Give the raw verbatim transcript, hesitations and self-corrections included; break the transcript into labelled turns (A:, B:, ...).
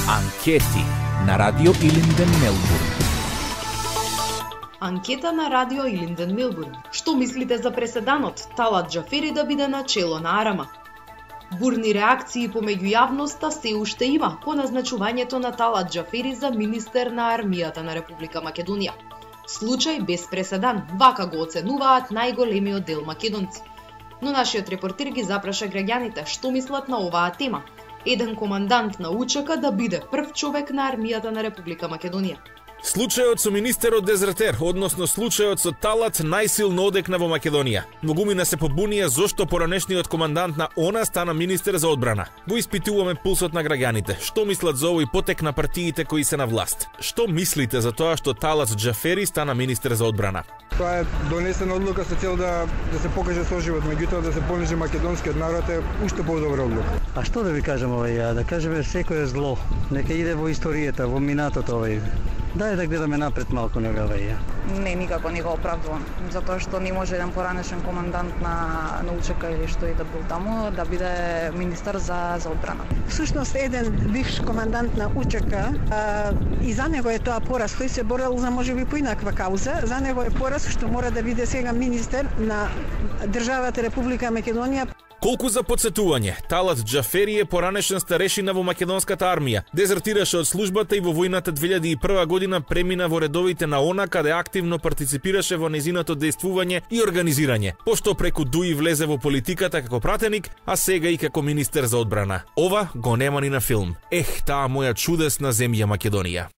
A: Анкети на Радио Илинден Мелбурн.
B: Анкета на Радио Илинден Мелбурн. Што мислите за преседанот Талат Џафери да биде начело на Арама? Бурни реакции помеѓу јавноста се уште има по назначувањето на Талат Џафери за министер на армијата на Република Македонија. Случај без преседан, вака го оценуваат најголемиот дел македонци. Но нашиот репортер ги запраша граѓаните што мислат на оваа тема. Еден командант на УЧК да биде прв човек на армијата на Република Македонија.
C: Случајот со министерот дезертер, односно случајот со Талат, најсилно одекна во Македонија. Многумина се побунија зошто поранешниот командант на ОНА стана министер за одбрана. Го испитуваме пулсот на граѓаните. Што мислат за овој потек на партиите кои се на власт? Што мислите за тоа што Талат Џафери стана министер за одбрана?
D: Тоа е донесена одлука со цел да да се покаже соживот, меѓутоа да се понижи македонскиот народ е уште подобра одлука.
E: А што да ви кажам овај ја? Да кажеме секој е зло. Нека иде во историјата, во минатото овај. Дај да гледаме напред малку нега ваја.
F: Не, никако не го оправдувам, затоа што не може еден поранешен командант на на УЧК или што и да бил таму да биде министер за за одбрана.
G: Всушност еден бивш командант на УЧК а, и за него е тоа пораз, тој се борел за можеби поинаква кауза, за него е пораз што мора да биде сега министер на државата Република Македонија.
C: Колку за подсетување, Талат Џафери е поранешен старешина во македонската армија. Дезертираше од службата и во војната две илјади и прва година премина во редовите на ОНА, каде активно партиципираше во нејзиното дејствување и организирање, пошто преку ДУИ влезе во политиката како пратеник, а сега и како министер за одбрана. Ова го нема ни на филм. Ех, таа моја чудесна земја Македонија.